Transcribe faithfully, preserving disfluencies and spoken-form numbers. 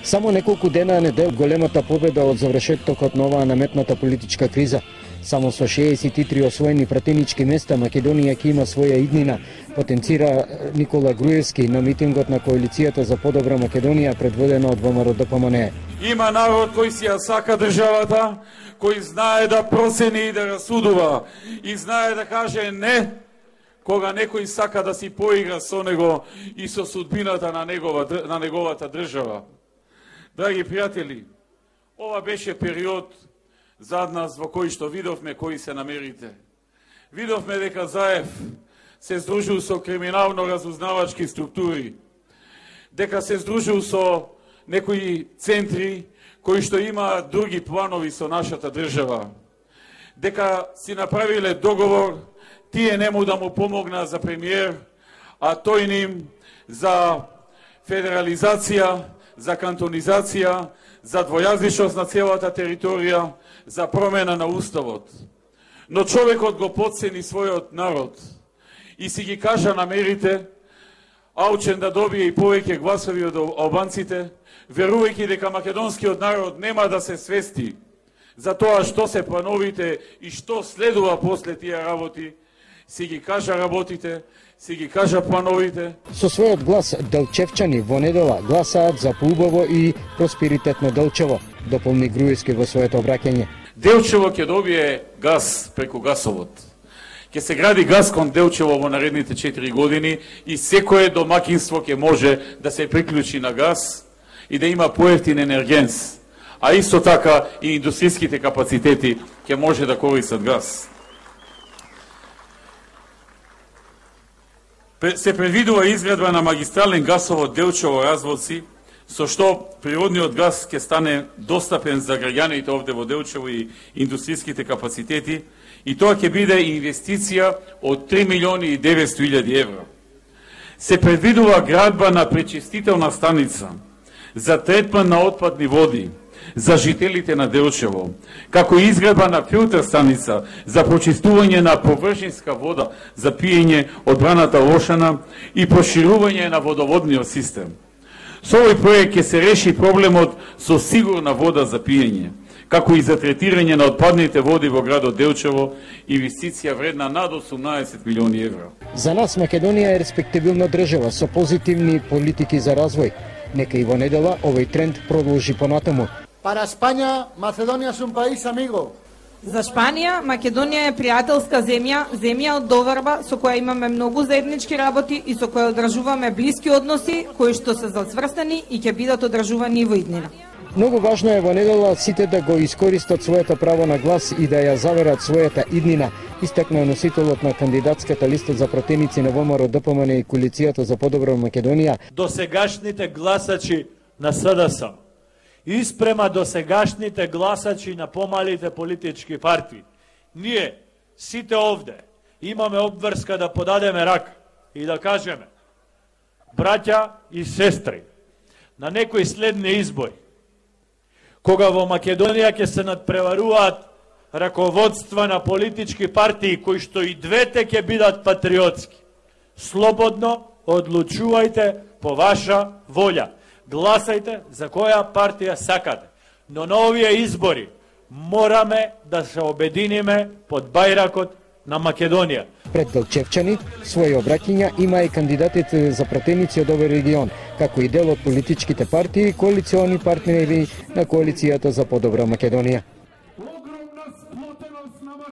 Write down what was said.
Само неколку дена не дел големата победа од завршетокот на оваа наметната политичка криза. Само со шеесет и три освоени пратенички места Македонија ќе има своја иднина, потенцира Никола Груевски на митингот на коалицијата за подобра Македонија предводена од ВМРО Д П М Н. Има народ кој си ја сака државата, кој знае да процени и да расудува и знае да каже не кога некој сака да си поигра со него и со судбината на негова на неговата држава. Драги пријатели, ова беше период зад нас во кој што видовме кои се намерите. Видовме дека Заев се здружил со криминално-разузнавачки структури, дека се здружил со некои центри кои што имаат други планови со нашата држава, дека си направиле договор тие нему да му помогна за премиер, а тој ним за федерализација, за кантонизација, за двојазичност на целата територија, за промена на уставот. Но човекот го потцени својот народ и си ги кажа намерите, аучен да добие и повеќе гласови од албанците, верувајќи дека македонскиот народ нема да се свести за тоа што се плановите и што следува после тие работи, си ги кажа работите, си ги кажа плановите. Со својот глас делчевчани во недела гласаат за поубаво и просперитетно Делчево, дополни Груевски во своето обраќање. Делчево ќе добие газ преку гасовод. Ќе се гради газ кон Делчево во наредните четири години и секое домакинство ќе може да се приклучи на газ и да има поевтин енергенс, а исто така и индустријските капацитети ќе може да користат газ. Се предвидува изградба на магистрален гасовод Делчево-Разводци, со што природниот газ ќе стане достапен за граѓаните овде во Делчево и индустријските капацитети, и тоа ќе биде инвестиција од три милиони и деветстотини илјади евра. Се предвидува градба на пречистителна станица за третман на отпадни води за жителите на Делчево, како и изградба на филтер станица за прочистување на површинска вода за пиење од браната Лошана и проширување на водоводниот систем. Со овој проект ќе се реши проблемот со сигурна вода за пиење, како и за третирање на отпадните води во градот Делчево, инвестиција вредна над осумнаесет милиони евра. За нас Македонија е респективилна држава со позитивни политики за развој. Нека и во недела овој тренд продолжи понатаму. Para España, Macedonia es un país amigo. За Шпанија, Македонија е пријателска земја, земја од доварба со која имаме многу заеднички работи и со која одржуваме блиски односи кои што се зацврстени и ќе бидат одржувани во иднина. Многу важно е во недела сите да го искористат своето право на глас и да ја заверат својата иднина, истакна носителот на кандидатската листа за пратеници на ВМРО Д П М Н и коалицијата за подобра Македонија. Досегашните гласачи на С Д С испрема досегашните гласачи на помалите политички партии. Ние, сите овде, имаме обврска да подадеме рака и да кажеме: браќа и сестри, на некои следни избори, кога во Македонија ќе се надпреваруваат раководства на политички партии кои што и двете ќе бидат патриотски, слободно одлучувајте по ваша волја. Гласајте за која партија сакате, но на овие избори мораме да се обединиме под бајракот на Македонија. Пред Делчевчани своји обраќања има и кандидатите за пратеници од овој регион, како и дел од политичките партии и коалициони партнери на коалицијата за подобра Македонија.